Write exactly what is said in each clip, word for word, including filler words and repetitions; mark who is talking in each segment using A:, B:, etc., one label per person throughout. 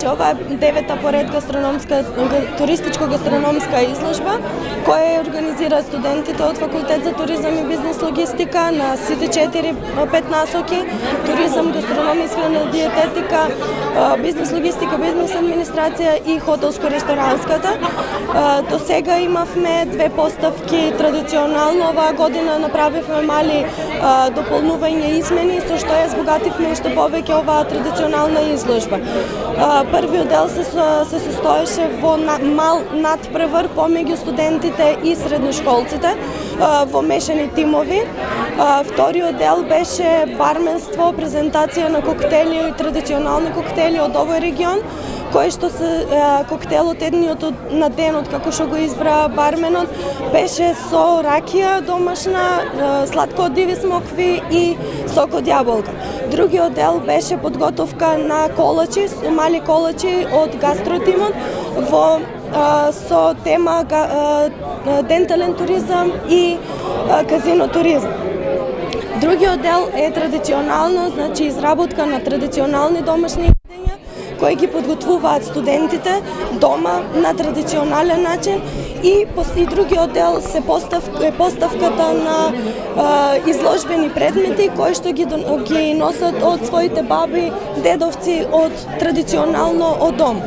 A: Значи, ова е девета поред гастрономска, туристичко-гастрономска изложба, која организира студентите од Факултет за туризам и бизнес логистика на сите четири-пет насоки: туризам, гастрономија, исхрана, диететика, бизнес логистика, бизнес администрација и хотелско-ресторанската. До сега имавме две поставки традиционално. Оваа година направивме мали дополнување и измени, со што ја збогативме уште повеќе оваа традиционална изложба. Првиот дел се, се состоеше во мал надпревар помеѓу студентите и средношколците во мешани тимови. Вториот дел беше барменство, презентација на коктели и традиционални коктели од овој регион, кој што се коктелот едниот на денот, како што го избра барменот, беше со ракија домашна, сладко од диви смокви и сок од јаболка. Другиот дел беше подготовка на колачи, мали колачи од гастротимот во со тема дентален туризам и казино туризам. Другиот дел е традиционално, значи изработка на традиционални домашни јадења кои ги подготвуваат студентите дома на традиционален начин, и и другиот дел се поставка, поставката на е, изложбени предмети кои што ги, ги носат од своите баби, дедовци, од традиционално од дом.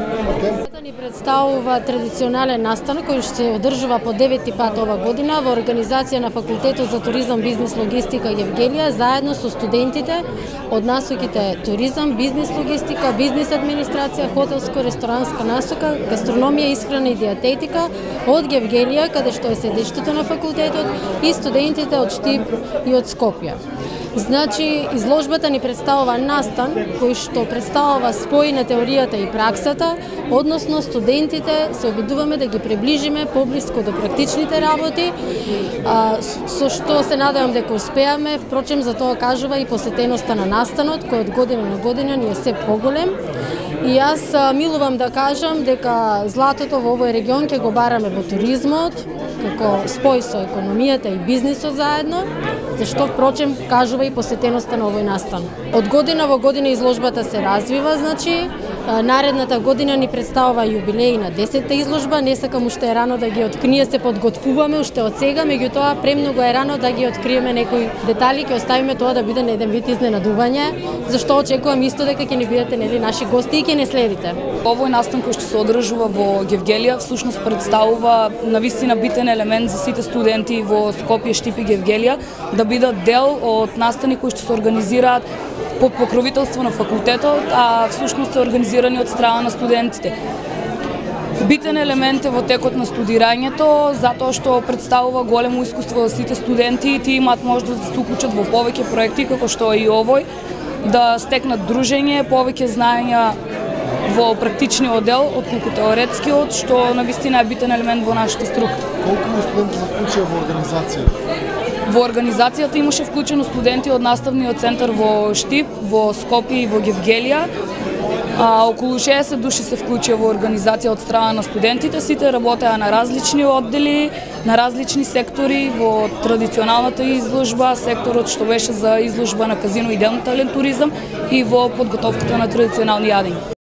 B: Ни представува традиционален настан кој што се одржува по девети пат ова година во организација на Факултетот за туризам, бизнес, логистика Јевгелија, заедно со студентите од насоките туризам, бизнес, логистика, бизнес администрација, хотелско-ресторанска насока, гастрономија, исхрана и диететика од Јевгелија, каде што е седиштето на факултетот, и студентите од Штип и од Скопје. Значи, изложбата ни представува настан кој што представува спој на теоријата и праксата, односно студентите се обидуваме да ги приближиме поблиско до практичните работи, а, со што се надевам дека успеаме. Впрочем, за тоа кажува и посетеноста на настанот, кој од година на година ни е се поголем. И јас а, милувам да кажам дека златото во овој регион ќе го бараме во туризмот, како спој со економијата и бизнисот заедно, зашто впрочем кажува и посетеноста на овој настан. Од година во година изложбата се развива, значи наредната година ни представува јубилеј на десетта изложба. Не сакам уште е рано да ги откриеме, ние се подготвуваме уште од сега, меѓутоа премногу е рано да ги откриеме некои детали, ќе оставиме тоа да биде на еден вид изненадување, зашто очекувам исто дека ќе ни бидете нели наши гости и ќе не следите.
C: Овој настан кој што се одржува во Јевгелија всушност представува навистина битен елемент за сите студенти во Скопје, Штип и Јевгелија да бидат дел од настани кои што се организираат под покровителство на факултетот, а всушност се организирани од страна на студентите. Битен елемент е во текот на студирањето, затоа што представува големо искуство за сите студенти и тие имаат можност да се уклучат во повеќе проекти, како што е и овој, да стекнат дружење, повеќе знаења во практичниот дел, отколку теоретскиот, што навистина е битен елемент во нашата струка.
D: Колку студенти се вклучија во организацијата?
C: Во организацијата имаше вклучено студенти од наставниот центар во Штип, во Скопје и во Јевгелија. А, околу шеесет души се вклучија во организација од страна на студентите. Сите работеа на различни оддели, на различни сектори, во традиционалната изложба, секторот што беше за изложба на казино и дентален туризам и во подготовката на традиционални јадења.